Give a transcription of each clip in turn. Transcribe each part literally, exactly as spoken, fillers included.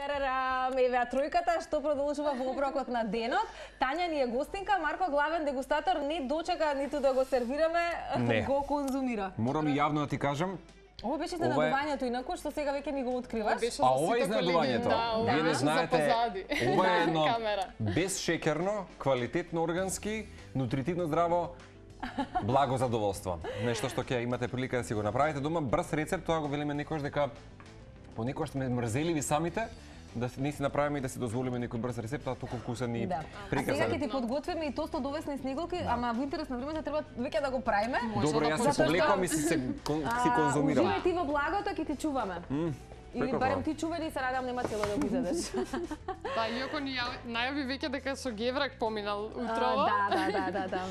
Тарарам, еве тројката што продолжува во оброкот на денот. Тања ни е гостинка, Марко главен дегустатор не дочека ниту да го сервираме, не го конзумира. Морам и јавно да ти кажам, Ова беше изненадувањето инаку што сега веќе ми го откриваш. а ова е изненадувањето. Да, Вие не да. знаете, За ова е едно камера. безшекерно, квалитетно органски, нутритивно здраво, благо задоволство. Нешто што ќе имате прилика да си го направите дома, брз рецепт, тоа го велиме некојаш дека понекогаш сме мрзеливи самите, да не си направиме и да си дозволиме некој брз рецепт, а толку вкусен и Да. прекрасен. А сега ќе ти подготвиме и тосто од овесни снеголки, ама во интерес на времето треба веќе да го правиме. Добро, јас се повлекувам и си се кон- си конзумирам. Уживај ти во благото, ќе ти чуваме. Или прекрасно. барем ти чувај и се надам нема цело да го изедеш. Да, иако ни ја- најави веќе дека со геврак поминал А, утрово. Да, да, да, да, да.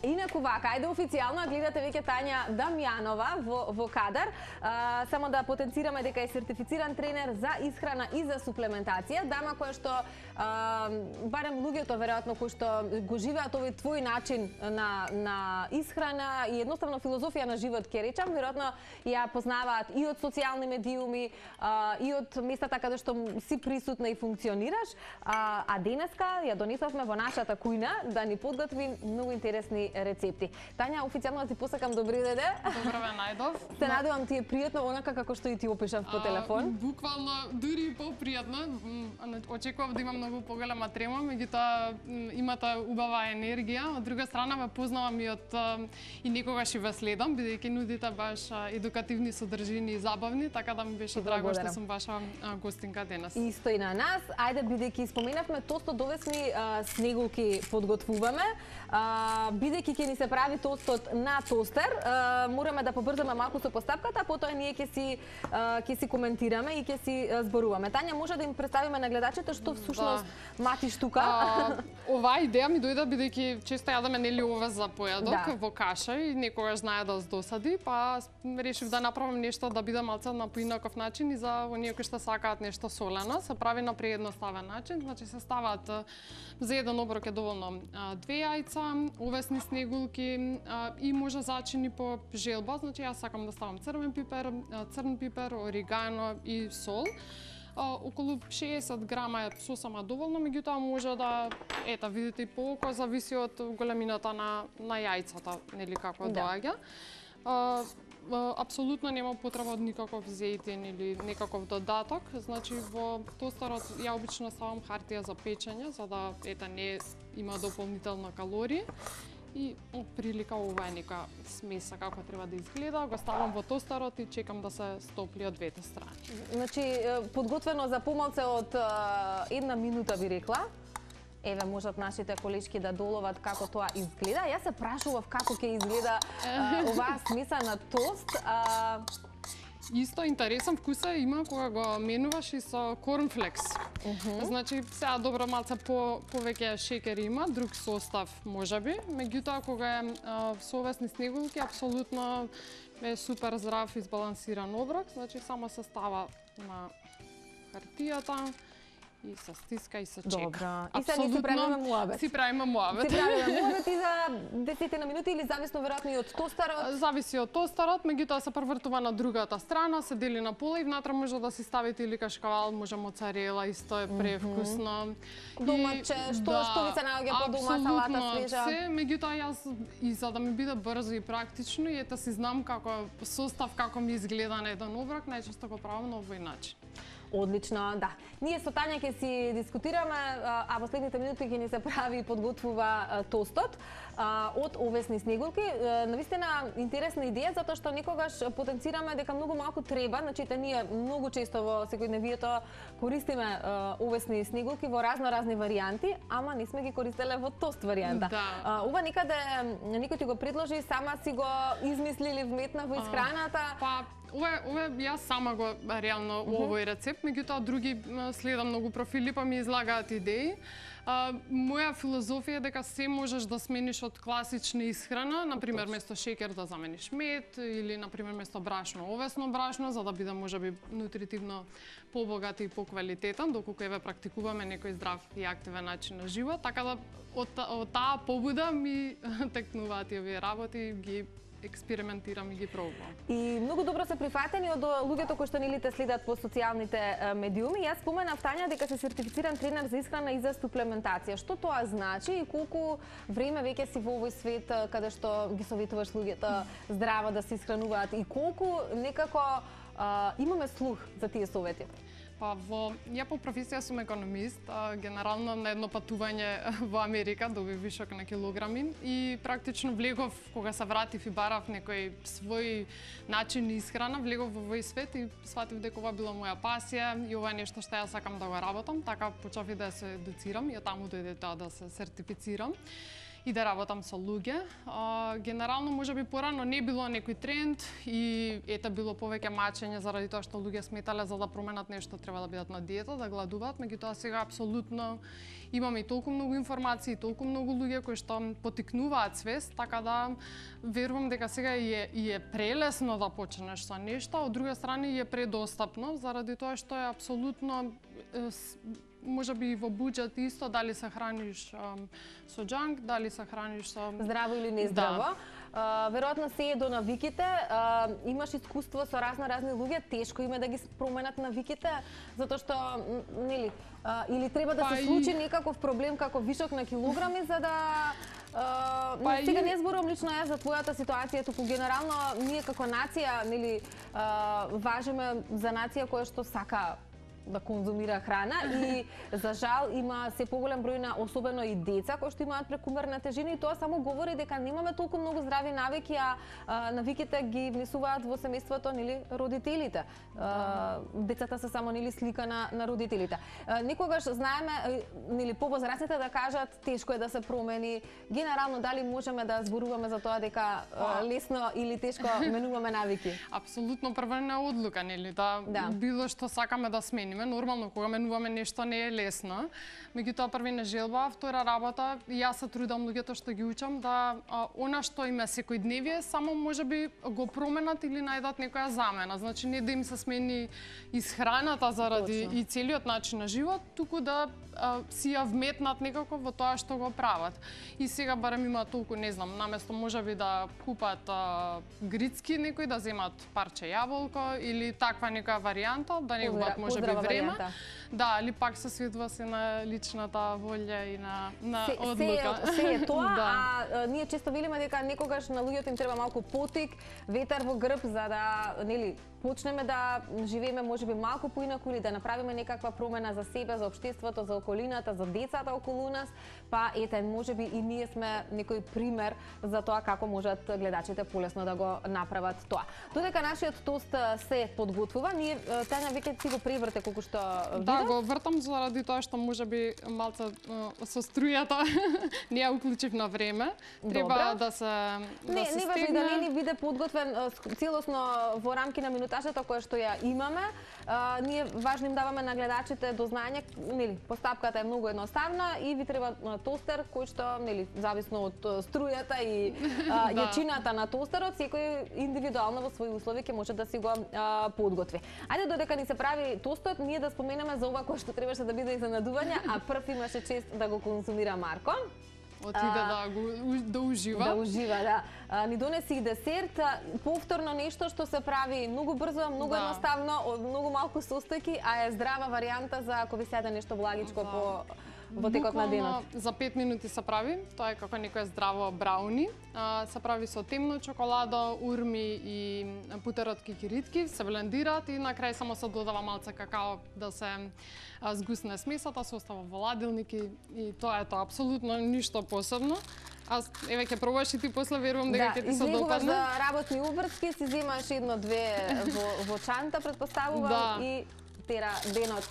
Инаку вака, ајде официјално гледате веќе Тања Дамјанова во, во кадар. А, само да потенцираме дека е сертифициран тренер за исхрана и за суплементација. Дама која што, а, барем луѓето веројатно кои што го живеат овој твој начин на, на исхрана и едноставно филозофија на живот, ќе речам, веројатно ја познаваат и од социјални медиуми, а, и од местата каде што си присутна и функционираш. А, а денеска ја донесовме во нашата кујна да ни подготви многу интересни рецепти. Тања, официјално да ти посакам добри деде. Добро ве најдов. Се надевам ти е пријатно онака како што и ти опишав по телефон. А, буквално дури и попријатно. М, Очекував да има многу поголема трема, меѓутоа м, имате убава енергија. Од друга страна ве познавам и од а, и некогаш и ве следам, бидејќи нудите баш а, едукативни содржини и забавни, така да ми беше драго што сум ваша а, гостинка денес. Исто и на нас. Ајде, бидејќи споменавме тосто довесни а, снеголки подготвуваме. А, бидејќи ќе ни се прави тостот на тостер, а, мораме да побрзаме малку со постапката, а потоа ние ќе си а, ќе си коментираме и ќе си а, зборуваме. Тања, може да им представиме на гледачите што всушност Да. матиш тука? А, оваа идеја ми дојде бидејќи често јадеме нели овоз за појадок Да. во каша и некогаш знае да досади, па решив да направам нешто да биде малце на поинаков начин и за оние кои што сакаат нешто солено, се прави на преедноставен начин, значи се ставаат а, за еден оброк е доволно а, две јајца, овесни снеголки а, и може зачини по желба, значи јас сакам да ставам црвен пипер, а, црн пипер, орегано и сол. Uh, околу шеесет грама е сосама доволно, меѓутоа може да, ета, видите и по око, зависи од големината на, на јајцата, нели како Да. доаѓа. Uh, uh, апсолутно нема потреба од никаков зејтин или некаков додаток, значи во тостерот ја обично ставам хартија за печење, за да, ета, не има дополнително калории. И од прилика ова е нека смеса како треба да изгледа, го ставам во тостерот и чекам да се стопли од двете страни. Значи, е, подготвено за помалце од е, една минута би рекла. Еве, можат нашите колешки да доловат како тоа изгледа. Јас се прашував како ќе изгледа е, оваа смеса на тост. А, Исто интересен вкус е има кога го менуваш и со корнфлекс. Uh -huh. Значи, сега добро малце по повеќе шекер има, друг состав можеби, меѓутоа кога е а, со овесни снеголки апсолутно е супер здрав и избалансиран оброк, значи само се става на хартијата и се стиска и се чека. Добро. И сега ние си правиме муабет. Си правиме муабет. Си правиме муабет и за десет на минути или зависно веројатно и од тостерот? Зависи од тостерот, меѓутоа се превртува на другата страна, се дели на пола и внатре може да си ставите или кашкавал, може моцарела, исто е превкусно. Домаче, што што ви се наоѓа по дома, салата свежа? Се, меѓутоа јас и за да ми биде брзо и практично и ета си знам како состав како ми изгледа на еден оброк, најчесто го правам на овој начин. Одлично, да. Ние со Тања ќе си дискутираме, а во следните минути ќе ни се прави и подготвува тостот од овесни снеголки. Навистина интересна идеја затоа што некогаш потенцираме дека многу малку треба, значи ние многу често во секојдневието користиме овесни снеголки во разно-разни варијанти, ама не сме ги користеле во тост варијанта. Да. Ова некаде некој ти го предложи, сама си го измислили, вметна во исхраната. Па, ова, ова јас сама го реално uh -huh. овој рецепт, меѓутоа други следам многу профили па ми излагаат идеи. А, моја филозофија е дека се можеш да смениш од класична исхрана, например место шекер да замениш мед или например место брашно овесно брашно за да биде можеби нутритивно побогат и поквалитетен, доколку еве практикуваме некој здрав и активен начин на живот, така да од, од таа побуда ми текнуваат и овие работи, ги експериментирам и ги пробувам. И многу добро се прифатени од луѓето кои што нели те следат по социјалните медиуми. Јас споменав, Тања, дека се сертифициран тренер за исхрана и за суплементација. Што тоа значи и колку време веќе си во овој свет каде што ги советуваш луѓето здраво да се исхрануваат и колку некако а, имаме слух за тие совети? Па во ја по професија сум економист, а, генерално на едно патување во Америка добив вишок на килограми и практично влегов кога се вратив и барав некој свој начин исхрана, влегов во овој свет и сватив дека ова била моја пасија и ова е нешто што ја сакам да го работам, така почнав и да се едуцирам и од таму дојде тоа да се сертифицирам и да работам со луѓе. А, генерално, можеби порано не било некој тренд и ете било повеќе мачење заради тоа што луѓе сметале за да променат нешто треба да бидат на диета, да гладуваат, меѓутоа сега апсолутно имаме и толку многу информации, и толку многу луѓе кои што потикнуваат свест, така да верувам дека сега и е, и е прелесно да почнеш со нешто, од друга страна и е предостапно заради тоа што е апсолутно можеби во буџет исто, дали се храниш um, со џанк, дали се храниш со... Здраво или нездраво. Да. Uh, веројатно се е до навиките. Uh, имаш искуство со разни-разни луѓе, тешко име да ги променат навиките, затоа што, нели, uh, или треба да па се случи и... некаков проблем како вишок на килограми, за да... Uh, па сега и... не зборувам лично јас за твојата ситуација, туку генерално ние како нација, нели, uh, важиме за нација која што сака да конзумира храна и за жал има се поголем број на особено и деца кои што имаат прекумерна тежина и тоа само говори дека немаме толку многу здрави навики, а, а навиките ги внесуваат во семејството, нели, родителите. А, децата се само нели слика на на родителите. А, некогаш знаеме, нели, повозрастните да кажат тешко е да се промени. Генерално дали можеме да зборуваме за тоа дека а, лесно или тешко менуваме навики? Апсолутно првна одлука, нели, да, да било што сакаме да смениме. Нормално, кога менуваме нешто не е лесно. Меѓутоа, првина желба, втора работа, јас се трудам луѓето што ги учам да а, она што им е секојдневие, само можеби го променат или најдат некоја замена. Значи, не да им се смени исхраната заради Точно. И целиот начин на живот, туку да а, си ја вметнат некако во тоа што го прават. И сега барем има толку, не знам, наместо можеби да купат а, грицки некој, да земат парче јаболко или таква некоја варијанта, да не губат можеби време. Да, или пак се сведува се на личната волја и на, на се, одлука. Се, се е тоа, да. а, а ние често велиме дека некогаш на луѓето им треба малку потик, ветар во грб за да, нели, почнеме да живееме можеби малку поинаку или да направиме некаква промена за себе, за општеството, за околината, за децата околу нас, па ете, можеби и ние сме некој пример за тоа како можат гледачите полесно да го направат тоа. Додека нашиот тост се подготвува, ние Тања веќе си го преврте колку што видам. Да, го вртам заради тоа што можеби малце со струјата не ја уклучив на време. Треба Добра. да се да не, се не важи да не ни биде подготвен целосно во рамки на минутажата која што ја имаме. А, ние важно им даваме на гледачите до знаење, нели, постапката е многу едноставна и ви треба тостер кој што, нели, зависно од струјата и а, да. јачината на тостерот, секој индивидуално во своји услови ќе може да си го а, подготви. Ајде додека ни се прави тостот, ние да споменеме за ова кој што требаше да биде изненадување, а прв имаше чест да го консумира Марко. Отиде да го да ужива. Да ужива, да. А, ни донеси и десерт, повторно нешто што се прави многу брзо, многу да. едноставно, од многу малку состојки, а е здрава варијанта за ако ви се јаде нешто благичко да. по во текот на денот. За пет минути се прави, тоа е како некое здраво брауни. А, се прави со темно чоколадо, урми и путерот кикиритки, се блендираат и на крај само се додава малце какао да се а, згусне смесата, се остава во ладилник и, и тоа е тоа, апсолутно ништо посебно. Аз еве ќе пробаш и ти после верувам дека ќе да, ти се допадне. Да, за работни увртки си земаш едно-две во, во чанта, предпоставувам, да. и тера денот.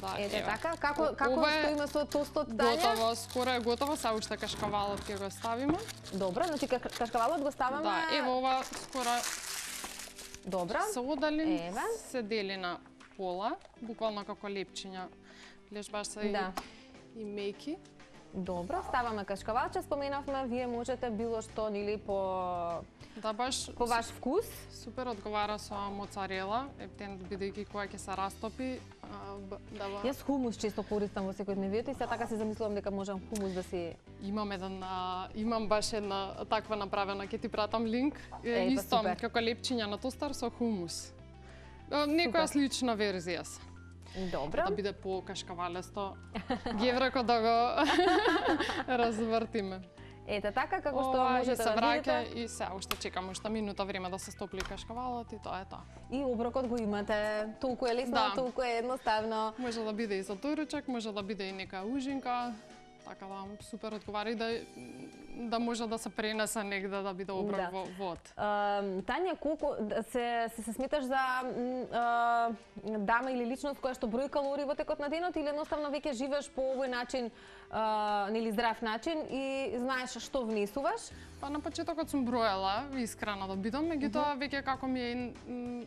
Да, Ете ева. така, како како Ова е стоиме со тостот Тања? Готово, скоро е готово, сега уште кашкавалот ќе го ставиме. Добро, значи кашкавалот го ставаме. Да, ево ова скоро Добро. Се одалин, Еве. се дели на пола, буквално како лепчиња. Гледаш баш се да. и, и меки. Добро, ставаме кашкавалче, споменавме, вие можете било што нели по Да, баш по ваш вкус. Супер одговара со моцарела, ептен бидејќи кога ќе се растопи, да ба... Јас хумус често користам во секојдневието и се така си замислувам дека можам хумус да си... Имам еден, а, имам баш една таква направена, ќе ти пратам линк. Е, Исто, супер. како лепчиња на тостар со хумус. Некоја слична верзија се. Добро. Да биде по кашкавалесто. Гевреко да го развртиме. Ете така како што Ова, можете и се да враќа видите. и се уште чекам уште минута време да се стопли кашкавалот и тоа е тоа. И оброкот го имате. Толку е лесно, Да. толку е едноставно. Може да биде и за доручак, може да биде и нека ужинка. Така да супер одговара и да да може да се пренесе негде да биде оброк Да. во вод. Uh, Тања, колку се, се се сметаш за uh, дама или личност која што брои калории во текот на денот или едноставно веќе живееш по овој начин, uh, нели здрав начин и знаеш што внесуваш? Па на почетокот сум броела искрена да бидам, меѓутоа веќе како ми е м,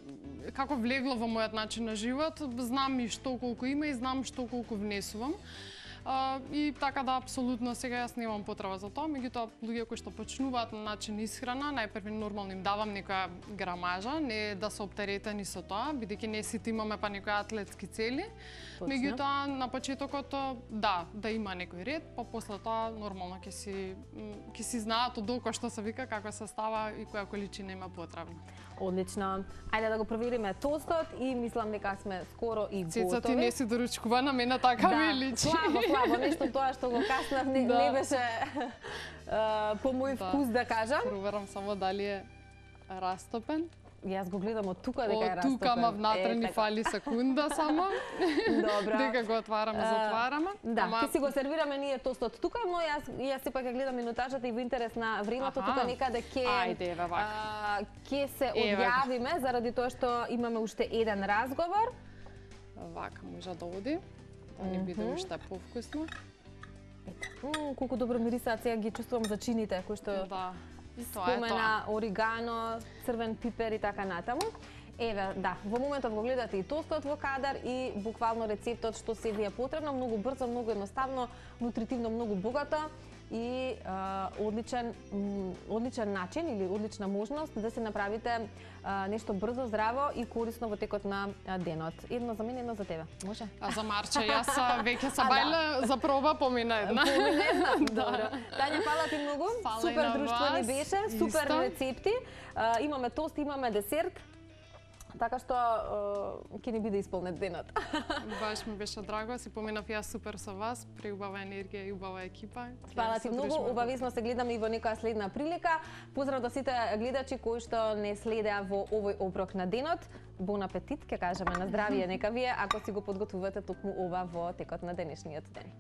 како влегло во мојот начин на живот, знам и што колку има и знам што колку внесувам. Uh, и така да, апсолутно, сега јас немам потреба за тоа, меѓутоа луѓе кои што почнуваат на начин исхрана, најпрви нормално им давам некоја грамажа, не да се оптеретени со тоа, бидејќи не сите имаме па некои атлетски цели. Точно. Меѓутоа на почетокот да, да има некој ред, па после тоа нормално ќе си м, ќе си знаат од долго што се вика, како се става и која количина има потребна. Одлично. Ајде да го провериме тостот и мислам дека сме скоро и готови. Цеца ти не си доручкува на мене така да, ми личи. слабо, слабо, нешто тоа што го каснав не, Да. не беше а, по мој Да. вкус да кажам. Проверам само дали е растопен. Јас го гледам од тука дека е Од растопен. тука ма внатре Е, ни така. фали секунда само. Добро. Дека го отвараме, затвараме. Да, Ама- ќе си го сервираме ние тостот тука, но јас јас сепак ја гледам минутажата и во интерес на времето Аха. тука некаде ќе Ајде, еве вака. а, ќе се Еве го. одјавиме заради тоа што имаме уште еден разговор. Вака може да оди. Да ни биде уште повкусно. М, колку добро мирисаат, сега ги чувствувам зачините кои што Да. И тоа е тоа. спомена оригано, црвен пипер и така натаму. Еве, да, во моментов го гледате и тостот во кадар и буквално рецептот што се ви е потребно, многу брзо, многу едноставно, нутритивно многу богато и а, одличен м, одличен начин или одлична можност да се направите а, нешто брзо, здраво и корисно во текот на а, денот. Едно за мене, едно за тебе. Може? А за Марче, јас а, веќе се А, да. бајле за проба помина една. Поминена? Добро. Тања, фала ти многу. Фала и Супер на друштвени вас. беше, супер Исто. рецепти. А, имаме тост, имаме десерт. Така што а, ќе ни биде исполнет денот. Баш ми беше драго, си поминав јас супер со вас, преубава енергија и убава екипа. Фала Ќе ти се многу, дружиме. обавезно се гледаме и во некоја следна прилика. Поздрав до сите гледачи кои што не следеа во овој оброк на денот. Бон апетит, ќе кажеме на здравие нека вие, ако си го подготвувате токму ова во текот на денешниот ден.